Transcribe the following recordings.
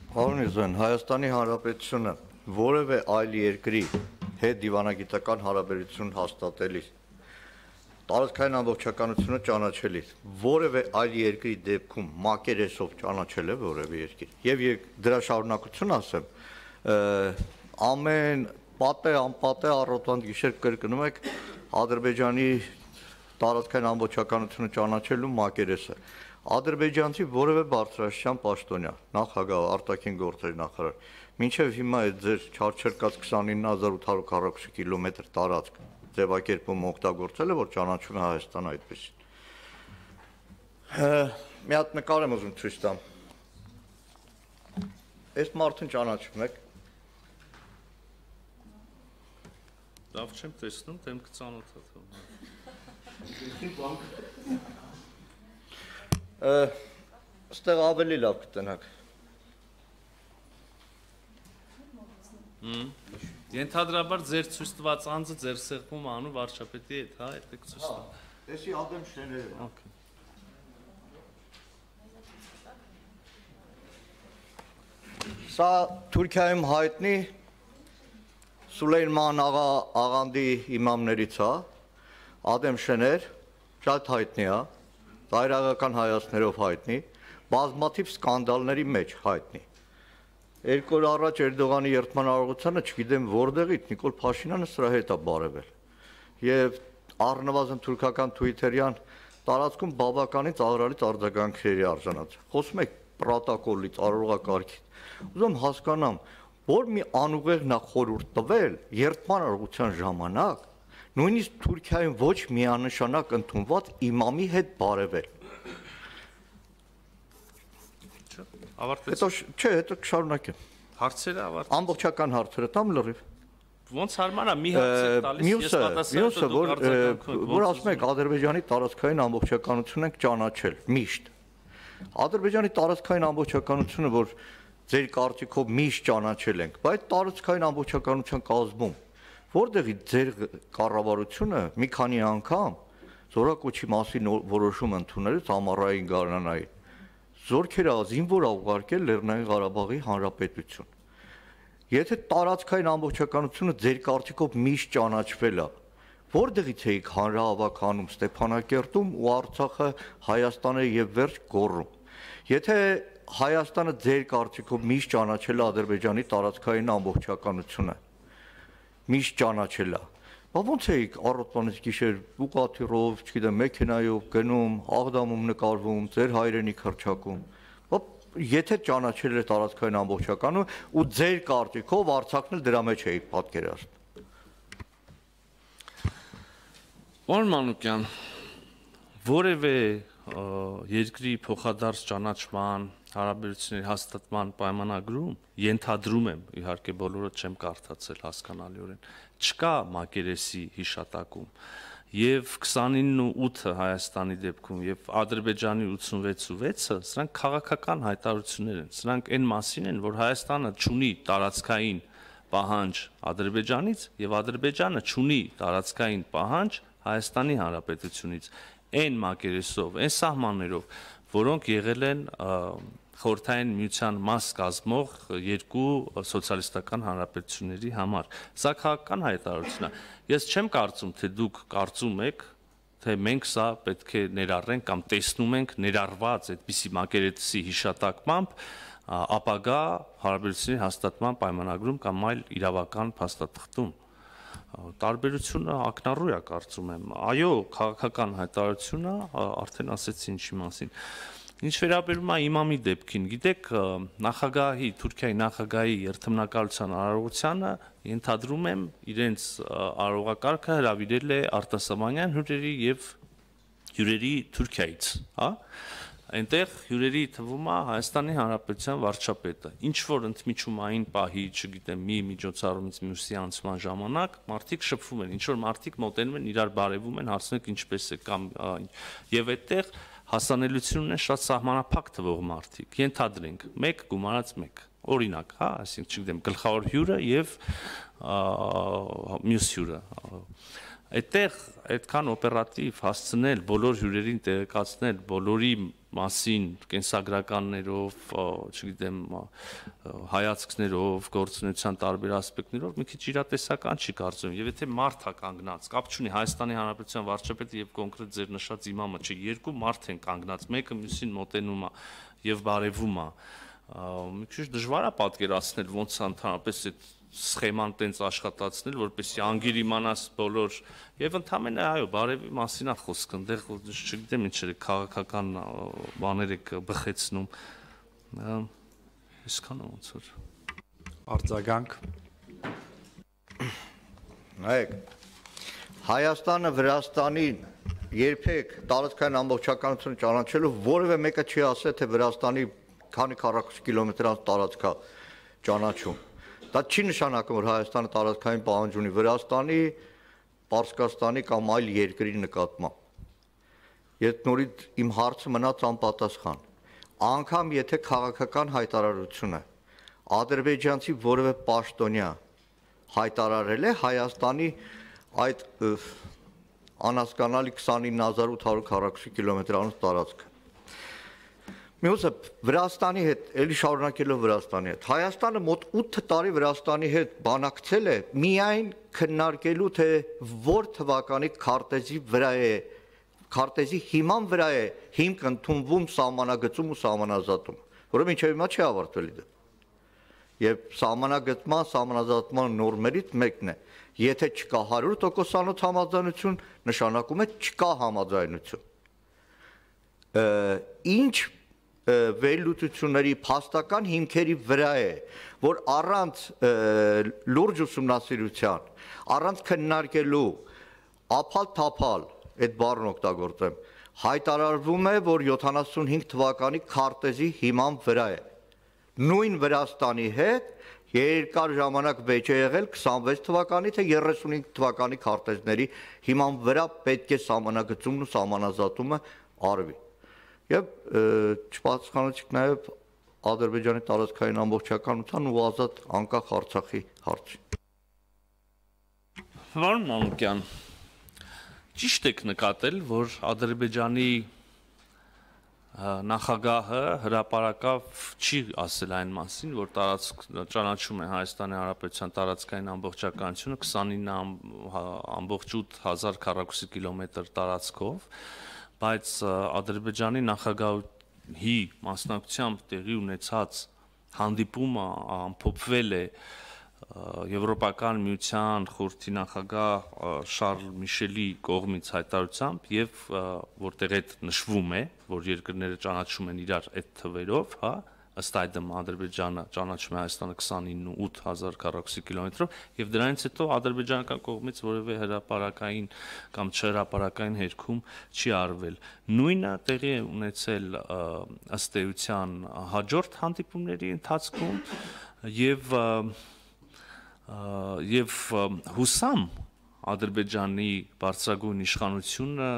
Պարոն Իզեն, Հայաստանի Հանրապետությունը որևէ այլ երկրի հետ դիվանագիտական հարաբերություն հաստատելիս, տարածքային ամբողջականությունը ճանաչելիս, որևէ այլ երկրի դեպքում մակերեսով ճանաչել է որևէ երկիր։ Եվ դրա շարունակություն ասեմ, ամեն պատե անպատե առօրյա գիշեր կրկնում եք Ադրբեջանի տարածքային ամբողջականությունը ճանաչելու մակերեսը։ Ադրբեջանցի որևէ բարձրաստիճան պաշտոնյա, նախագահ, արտաքին գործերի նախարար, մինչև հիմա այդ ձեր չարչարկած 29840 կիլոմետր տարածք ձևակերպում օգտագործել է, որ ճանաչում է Հայաստանը այդպես։ Մի հատ նկար եմ ուզում ցույց տամ։ Այս մարդուն ճանաչում եք։ Լավ չեմ տեսնում, դեմքը ծանոթ է թվում։ Ստեղ ավելի լավ կտնակ։ Ենթադրաբար ձեր ցույց տված անձը ձեր սեղմում անու վարչապետի հետ, հա, այդ եք ցույց տա։ Տեսի Ադեմ Շեները։ Okay։ Սա Թուրքիայում հայտնի Սուլեյման աղանդի իմամներից է, Ադեմ Շեներ, շատ հայտնի է, ծայրահեղական հայացքներով հայտնի, բազմաթիվ սկանդալների մեջ հայտնի։ Երկու օր առաջ Էրդողանի երդման արարողությանը չգիտեմ որտեղից Նիկոլ Փաշինյանը սրա հետ է բարևել։ Եվ առնվազն թուրքական Twitter-յան տարածքում բավականին ծաղրալից արձագանքների արժանացել։ Խոսում եք պրոտոկոլից, արարողակարգից։ Ուզում հասկանամ, որ մի անուղեղ նա խորհուրդ տվել երդման արարողության ժամանակ նույնիսկ Թուրքիայում ոչ միանշանակ ընդունված իմամի հետ բարևել։ Ավարտեց։ Չէ, հետո կշարունակեմ։ Հարցերը ավարտ։ Ամբողջական հարցերը տամ լրիվ։ Ոնց հարմար է մի հարց եք տալիս, ես պատասխանում որ ասում եք Ադրբեջանի տարածքային ամբողջականություն ենք ճանաչել միշտ։ Ադրբեջանի տարածքային ամբողջականությունը, որ ձեր կարծիքով միշտ ճանաչել ենք, բայց տարածքային ամբողջականության կազմում որտեղից ձեր կառավարությունը մի քանի անգամ զորակոչի մասին որոշում ընդունելուց ամառային գարնանային զորքեր զինվոր ուղարկել Լեռնային Ղարաբաղի Հանրապետություն։ Եթե տարածքային ամբողջականությունը ձեր կարծիքով միշտ ճանաչվել է, որտեղից եք հանրահավաք անում Ստեփանակերտում ու Արցախը Հայաստանը եւ վերջ գոռում։ Եթե Հայաստանը ձեր կարծիքով միշտ ճանաչել է Ադրբեջանի տարածքային ամբողջականությունը, միշտ ճանաչել է։ Բա ոնց եք առօրյա գիշեր ուղղաթիռով, չգիտեմ, մեքենայով գնում, աղդամում նկարվում, ձեր հայրենիք հռչակում։ Բա եթե ճանաչել է տարածքային ամբողջականը ու ձեր կարծիքով Արցախն էլ դրա մեջ էի պատկերացնում։ Պարոն Մանուկյան, որևէ երկրի փոխադարձ ճանաչման, հարաբերությունների հաստատման պայմանագրում ենթադրում եմ, իհարկե բոլորը չեմ կարդացել հասկանալիորեն, չկա մակերեսի հիշատակում եւ 29-ը 8-ը Հայաստանի դեպքում եւ Ադրբեջանի 86-ը սրանք քաղաքական հայտարարություններ են, սրանք այն մասին են, որ Հայաստանը չունի տարածքային պահանջ Ադրբեջանից եւ Ադրբեջանը չունի տարածքային պահանջ Հայաստանի Հանրապետությունից, այն մակերեսով, այն սահմաններով, որոնք եղել են խորհրդային միության մաս կազմող երկու սոցիալիստական հանրապետությունների համար։ Սա քաղաքական հայտարարություն է։ Ես չեմ կարծում, թե դուք կարծում եք, թե մենք սա պետք է ներառենք կամ տեսնում ենք ներառված այդպիսի մակերեսի հիշատակմամբ ապագա հարաբերությունների հաստատման պայմանագրում կամ այլ իրավական փաստաթղթում։ Տարբերությունը ակնառու է կարծում եմ։ Այո, քաղաքական հայտարարությունը արդեն ասեցի ինչի մասին։ Ինչ վերաբերում է իմամի դեպքին, գիտեք, նախագահի, Թուրքիայի նախագահի երթմնակալության արարողությանը ենթադրում եմ իրենց արարողակարգը հրավիրել է արտասահմանյան հյուրերի եւ հյուրերի Թուրքիայից, հա։ Այնտեղ հյուրերի թվում է Հայաստանի Հանրապետության վարչապետը։ Ինչ որ ընդմիջումային պահի, չգիտեմ, մի միջոցառումից մյուսի անցման ժամանակ մարդիկ շփվում են, ինչ որ մարդիկ մոտենում են, իրար բարևում են, հարցնում են ինչպես է կամ եւ այդտեղ հասանելիությունն է շատ սահմանափակ թվող մարդիկ։ Ենթադրենք, 1 գումարած 1։ Օրինակ, հա, այսինքն, չգիտեմ, գլխավոր հյուրը եւ մյուս հյուրը։ Այդտեղ այդքան օպերատիվ հասցնել, բոլոր հյուրերին տեղեկացնել, բոլորի մասին կենսագրականներով, չգիտեմ, հայացքներով, գործունեության տարբեր ասպեկտներով մի քիչ իրատեսական չի կարծում։ Եվ եթե մարդ է կանգնած, կապ չունի Հայաստանի Հանրապետության վարչապետը եւ կոնկրետ ձեր նշած իմամը, չէ, երկու մարդ են կանգնած, մեկը մյուսին մոտենում է եւ բարևում է։ Մի քիչ դժվար է պատկերացնել ոնց է ընդհանրապես այդ սխեման տենց աշխատացնել, որպեսզի անգիր իմանաս բոլոր եւ ընդամենը այո, բարևի մասին է խոսքը, այնտեղ չգիտեմ ինչ է քաղաքական բաներ եք բխեցնում։ Իսկանը ոնց որ արձագանք։ Նայեք, Հայաստանը Վրաստանին երբեք տարածքային ամբողջականությունը ճանաչելու որևէ մեկը չի ասել, թե Վրաստանի քանի քառակուսի կիլոմետրանոց տարածք է ճանաչում։ Դա չի նշանակում, որ Հայաստանը տարածքային պահանջ ունի Վրաստանի, Պարսկաստանի կամ այլ երկրի նկատմամբ։ Եթե նորից իմ հարցը մնաց անպատասխան։ Անգամ եթե քաղաքական հայտարարություն է, ադրբեջանցի որևէ պաշտոնյա հայտարարել է Հայաստանի այդ անհասկանալի 29800 քառակուսի կիլոմետրանոց տարածքը։ Մյուսը Վրաստանի հետ, էլի շարունակելով Վրաստանի հետ, Հայաստանը մոտ 8 տարի Վրաստանի հետ բանակցել է միայն քննարկելու, թե որ թվականի քարտեզի վրա է, քարտեզի հիման վրա է հիմք ընդունվում սահմանագծում ու սահմանազատում, որը մինչև հիմա չի ավարտվել դա։ Եվ սահմանագծման, սահմանազատման նորմերից մեկն է, եթե չկա 100%-անոց համաձայնություն, նշանակում է չկա համաձայնություն։ Ինչ վերլուծությունների փաստական հիմքերի վրա է, որ առանց լուրջ ուսումնասիրության, առանց քննարկելու, ափալ-թափալ, այդ բառն օգտագործեմ, հայտարարվում է, որ 75 թվականի քարտեզի հիման վրա է։ Նույն Վրաստանի հետ երկար ժամանակ վեճ է եղել 26 թվականի թե 35 թվականի քարտեզների հիման վրա պետք է սահմանագծումն ու սահմանազատումը արվի։ Եվ չպատասխանեցիք նաև Ադրբեջանի տարածքային ամբողջականության ու ազատ անկախ Արցախի հարցին։ Պարոն Մանուկյան, ճիշտ եք նկատել, որ Ադրբեջանի նախագահը հրապարակավ չի ասել այն մասին, որ ճանաչում է Հայաստանի Հանրապետության տարածքային ամբողջականությունը 29.8 քառակուսի կիլոմետր տարածքով, բայց Ադրբեջանի նախագահի մասնակցությամբ տեղի ունեցած հանդիպումը ամփոփվել է Եվրոպական միության խորհրդի նախագահ Շարլ Միշելի կողմից հայտարարությամբ եւ որտեղ այդ նշվում է, որ երկրները ճանաչում են իրար այդ թվերով, հա, ըստ այդմ Ադրբեջանը ճանաչում է Հայաստանը 29.8 քառակուսի կիլոմետրով եւ դրանից հետո ադրբեջանական կողմից որևէ հրապարակային կամ չհրապարակային հերքում չի արվել։ Նույնը տեղի է ունեցել ըստ էության հաջորդ հանդիպումների ընթացքում եւ հուսամ Ադրբեջանի բարձրագույն իշխանությունը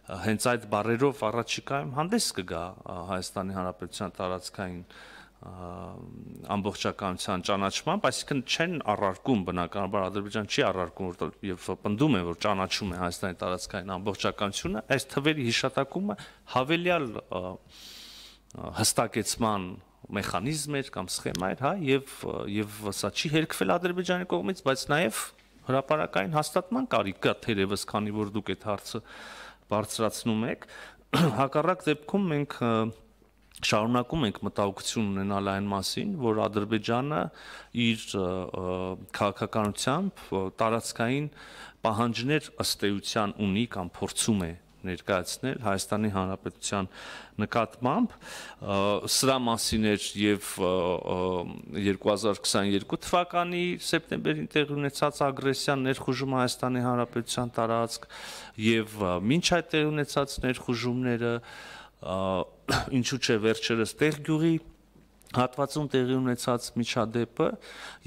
հենց այդ բարերով առաջիկայում հանդես կգա Հայաստանի Հանրապետության տարածքային ամբողջականության ճանաչմամբ, այսինքն չեն առարկում, բնականաբար Ադրբեջան չի առարկում եւ պնդում է, որ ճանաչում է Հայաստանի տարածքային ամբողջականությունը, այս թվերի հիշատակումը հավելյալ հստակեցման մեխանիզմ էր կամ սխեմա էր, հա, եւ սա չի հերքվել Ադրբեջանի կողմից, բայց նաեւ հրապարակային հաստատման կարիք կա, թերևս, քանի որ դուք այդ հարցը բարձրացնում եք, հակառակ դեպքում մենք շարունակում ենք մտահոգություն ունենալ այն մասին, որ Ադրբեջանը իր քաղաքականությամբ տարածքային պահանջներ ըստ էության ունի կամ փորձում է ներկայացնել Հայաստանի Հանրապետության նկատմամբ, սրա մասին էր եւ 2022 թվականի սեպտեմբերին տեղի ունեցած ագրեսիան ներխուժումը Հայաստանի Հանրապետության տարածք եւ մինչ այդ տեղի ունեցած ներխուժումները, ինչու՞ չէ վերջերս Տեղ-Գյուղի հատվածում տեղի ունեցած միջադեպը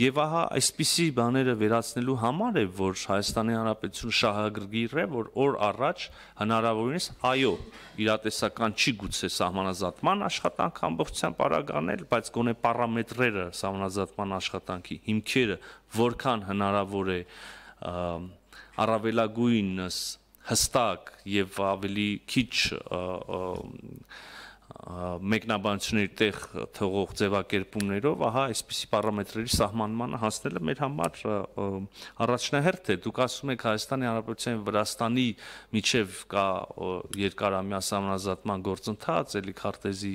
եւ ահա այսպիսի բաները վերացնելու համար է, որ Հայաստանի Հանրապետությունը շահագրգիռ է, որ օր առաջ հնարավորինս այո, իրատեսական չի գուցե սահմանազատման աշխատանք ամբողջությամբ արագանել, բայց գոնե պարամետրերը սահմանազատման աշխատանքի հիմքերը որքան հնարավոր է առավելագույնս հստակ եւ ավելի քիչ մեկնաբանությունների տեղ թողող ձևակերպումներով, ահա այսպիսի պարամետրերի սահմանմանը հասնելը մեր համար առաջնահերթ է։ Դուք ասում եք Հայաստանի Հանրապետության եւ Վրաստանի միջև կա երկարամյա համանազատման գործընթաց, էլի քարտեզի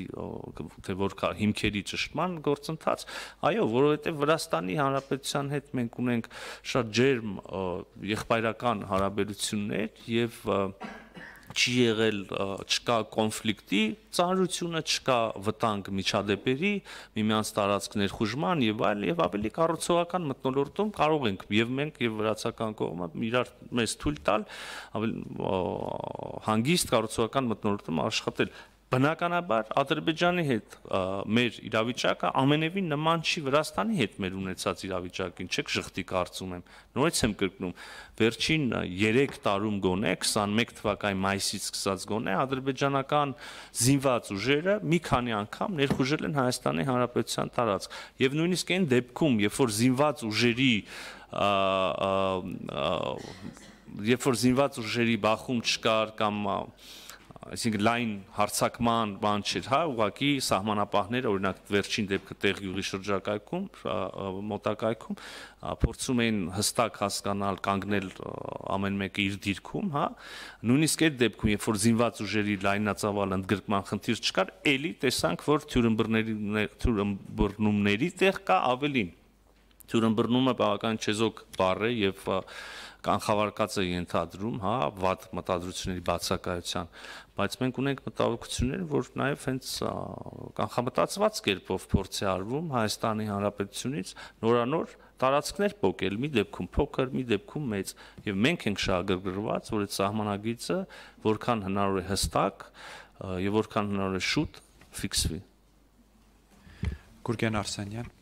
թե որ կա հիմքերի ճշտման գործընթաց, այո, որովհետեւ Վրաստանի Հանրապետության հետ մենք ունենք շատ ջերմ եղբայրական հարաբերություններ եւ չի եղել, չկա կոնֆլիկտի ծանրությունը, չկա վտանգ միջադեպերի, միմյանց տարածք ներխուժման եւ այլ եւ ավելի կառուցողական մթնոլորտում կարող ենք եւ մենք եւ վրացական կողմը իրար մեզ թույլ տալ ավելի հանգիստ կառուցողական մթնոլորտում աշխատել։ Բնականաբար Ադրբեջանի հետ մեր իրավիճակը ամենևին նման չի Վրաստանի հետ մեր ունեցած իրավիճակին, չեք շղթի կարծում եմ։ Նորից եմ կրկնում, վերջին 3 տարում գոնե 21 թվականի մայիսից սկսած գոնե ադրբեջանական զինված ուժերը մի քանի անգամ ներխուժել են Հայաստանի Հանրապետության տարածք։ Եվ նույնիսկ այն դեպքում, երբ որ զինված ուժերի բախում չկար կամ այսինքն լայն հարձակման բան չէր, հա, ուղղակի սահմանապահները, օրինակ վերջին դեպքը տեղ յուղի շրջակայքում, մոտակայքում փորձում էին հստակ հասկանալ, կանգնել ամեն մեկը իր դիրքում, հա, նույնիսկ այդ դեպքում, երբ որ զինված ուժերի լայնածավալ ընդգրկման խնդիր չկար, էլի տեսանք, որ թյուրըմբռնումների տեղ կա ավելին։ Թյուրըմբռնումը բավական չեզոք բառ է եւ կանխավարկած է ենթադրում, հա, վատ մտադրությունների բացակայության, բայց մենք ունենք մտահոգություններ, որ նաև հենց կանխամտածված կերպով փորձ է արվում Հայաստանի Հանրապետությունից նորանոր տարածքներ փոկել, մի դեպքում փոքր, մի դեպքում մեծ, եւ մենք ենք շահագրգռված, որ այդ սահմանագիծը որքան հնարավոր է հստակ եւ որքան հնարավոր է շուտ ֆիքսվի։ Գուրգեն Արսենյան